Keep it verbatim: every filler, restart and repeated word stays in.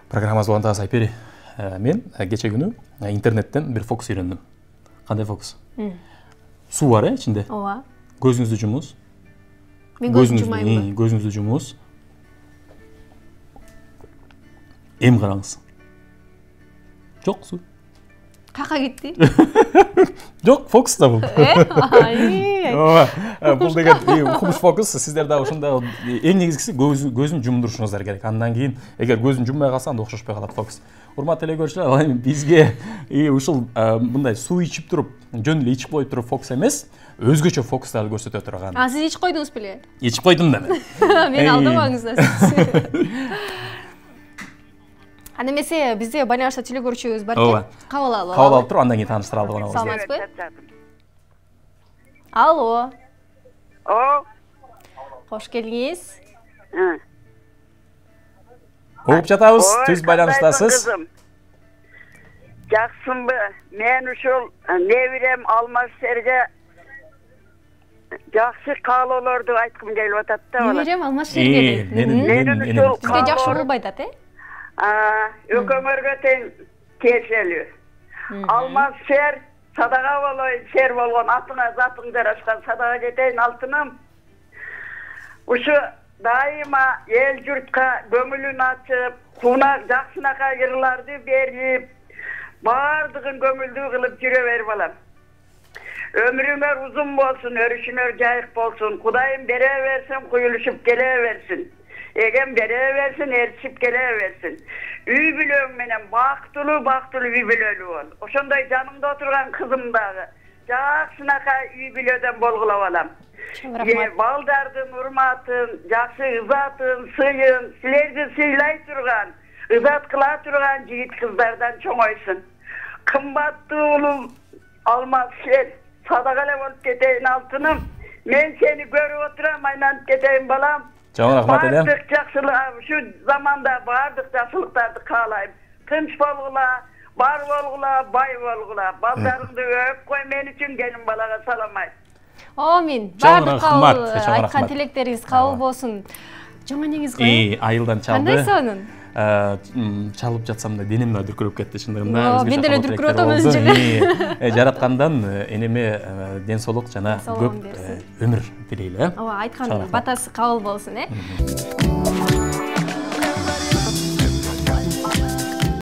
Программабыз улантабыз Айпери. Мен кече күнү интернеттен бир фокус үйрөндүм. Кандай фокус? Суу бар э ичинде. Ооба. Көзүңүздү жумуңуз. Мен көзүмдү жумайм. Көзүңүздү жумуңуз. Эм караңыз. Жок суу. Кака кетти? Жок, фокус да бул. Э? Ооба. Бул деген укмуш фокус. Сиздер дагы ушундай эң негизгиси көзүн жумдурушуңуздар керек. Андан кийин эгер көзүн жумбай калса анда окшошпой калат фокус. Урматтуу эле көрүүчүлөр, ал эми бизге ушул мындай суу ичип туруп, жөн эле ичип коюп туруп фокус эмес, өзгөчө фокустарды көрсөтө турган. А сиз ичип койдуңуз беле? Ичип койдум да мен. Мени алдабаңыздар. Анда эмесе бизде байланышта теле көрүүчүбүз бар экен. Кабыл алып. Кабыл алып туруп, андан кийин тааныштыра алабыз. Саламатсызбы? Алло. О. Кош келдиңиз. Угуп жатабыз, түз байланыштасыз. Жаксынбы? Мен ушул небирем Алмазшерге жакшы каалоолорду айткым келип атат да. Небирем Алмазшерге. Бизге жакшы болбойт атат, э? Өкөмөргө тең тиешелүү. Алмазшер садага болой, шер болгон атыңа затың жарашкан садага кетейин алтыным. Ушу дайыма эл журтка көңүлүн ачып, кунак жакшынакай ырларды берип, баардыгын көңүлдүү кылып жүрө бер балам. Өмүрүңөр узун болсун, өрүшүңөр жайык болсун. Кудайым бере берсин, куюлушуп келе берсин. Эгем бере берсин, эрчип келе берсин. Үй бүлөң менен бактылуу, бактылуу үй бүлөлүү бол. Ошондой жанымда отурган кызым дагы жакшынакай үй бүлөдөн болгула балам. Е балдардын урматын, жакшы ызатын, сыйын, силерди сыйлай турган, ызат кыла турган жигит кыздардан чоңойсун. Кымбаттуу улум Алмазшер, садага эле болуп кетейин алтыным. Мен сени көрүп отурам, айланып кетейин балам. Чоң рахмат элем. Бардык жакшылык, ушу заманда бардык жакшылыктарды каалайм. Тынч болгула, бар болгула, бай болгула. Балдарыңды өп кой мен үчүн, келин балага салам айт. Амин. Бардык кабыл, айткан тилектериңиз кабыл болсун. Жаңы энеңиз кандай? Айылдан чалды. Кандай сонун? Чалып жатсам да денем да дүркүрөп кетти чындыгында. Мен деле дүркүрөп атам өзүнчө. Жараткандан энеме ден соолук жана көп өмүр тилейли, э? Ооба, айткан батасы кабыл болсун, э?